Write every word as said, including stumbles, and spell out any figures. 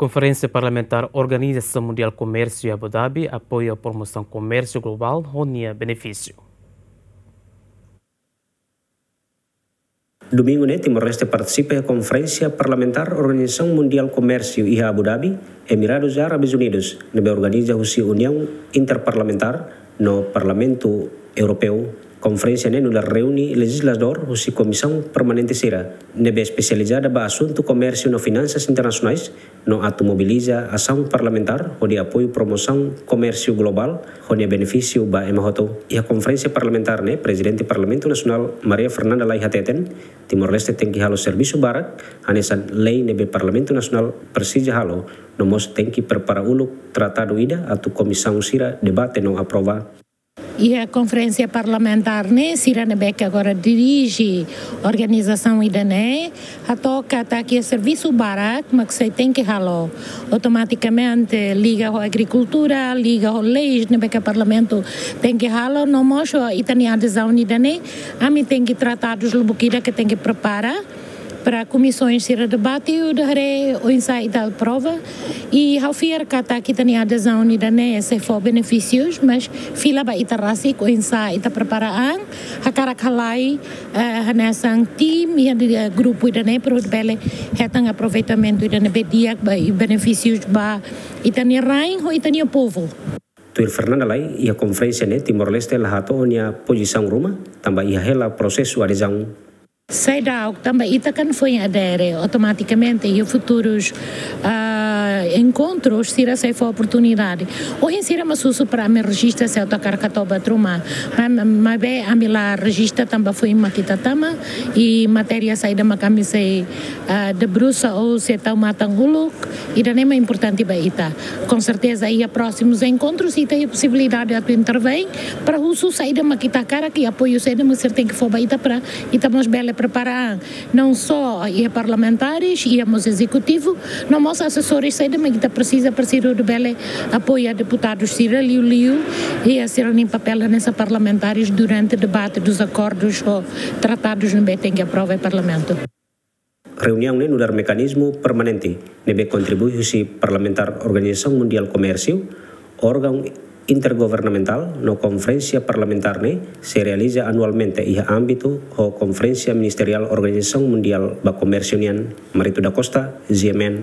Konferénsia Parlamentár Organizasaun Mundiál Komérsiu iha Abu Dhabi apoia promosaun komérsiu globál ho nia benefísiu. Domingu ne'e, Timor-Leste partisipa iha Konferénsia Parlamentár Organizasaun Mundiál Komérsiu iha Abu Dhabi, Emiradus Árabes Unidus, ne'ebé organiza husi Uniaun Interparlamentár no Parlamentu Europeu. Konferénsia ne'e nu'udar reúne lejizladór husi komisaun permanente sira ne'ebé espesializada ba asuntu komérsiu no finansas internasionais, no atu mobiliza asaun parlamentár hodi apoiu promosaun komérsiu globál ho nia benefísiu ba ema hotu. Iha konferénsia parlamentár ne'e, Prezidente Parlamentu Nasionál Maria Fernanda Lay hateten, Timor-Leste tenke halo servisu barak hanesan lei ne'ebé Parlamentu Nasionál presiza halo, no mós tenke prepara uluk tratadu ida atu komisaun sira debate no aprova. Iha konferénsia parlamentár ne'e, sira ne'ebé ke agora dirije organizasaun ida-ne'e hato'o katak iha servisu barak mak sei tenke halo. Automatikamente liga ho agrikultura, liga ho leis ne'ebé ke parlamentu tenke halo, no mós ho ita-nia adezaun ida-ne'e, ami tenke tratadus lubuk ida ke tenke prepara para komisaun sira debate, hodi haree oinsá ita aprova. I ha'u fiar katak ita-nia adezaun ida-ne'e sei fó benefísius, mas fila ba ita rasik oinsá ita prepara an, hakarak halai, eh, hanesan tim iha, eh, grupu ida-ne'e para hodi bele hetan aproveitamentu ida ne'ebé di'ak ba, i benefísius ba ita-nia rain ho ita-nia povu. Tuir Fernanda Lay, iha konferénsia ne'e Timor-Leste la hato'o nia pozisaun ruma, tanba iha hela prosesu adezaun. Seidauk, tanba ita kan foin adere, automatikamente iha futurus, ah, enkontrus sira sei fó oportunidade. Ohin sira mak husu para ami rejista se atu hakarak hato'o buat ruma. Ma-, ma-, maibé ami la rejista tanba foin mak ita tama, i matéria saida mak ami sei, ah, debrusa ou sei tau matan uluk, ida-ne'e mak importante ba ita. Com certeza, iha prósimus enkontrus ita iha posibilidade atu intervein para husu saida mak ita hakarak i apoiu saida mak sira tenke fó ba ita para ita mós bele prepara an. Não só iha parlamentares, iha mós ezekutivu, no mós asesores saida mak ita presiza, presiza hodi bele apoia deputadus sira liuliu iha sira-nia papél hanesan parlamentares durante debate dos acordos ou tratadus ne'ebé tenke aprova iha parlamentu. Reuniaun ne'e nu'udar mekanizmu permanente ne'ebé kontribui husi Parlamentár Organizasaun Mundiál Komérsiu, órgaun intergovernamentál no konferénsia parlamentár ne'e sei realiza anualmente iha ámbitu ho Konferénsia Ministeriál Organizasaun Mundiál ba Komérsiu nian. Marito da Costa, G M N.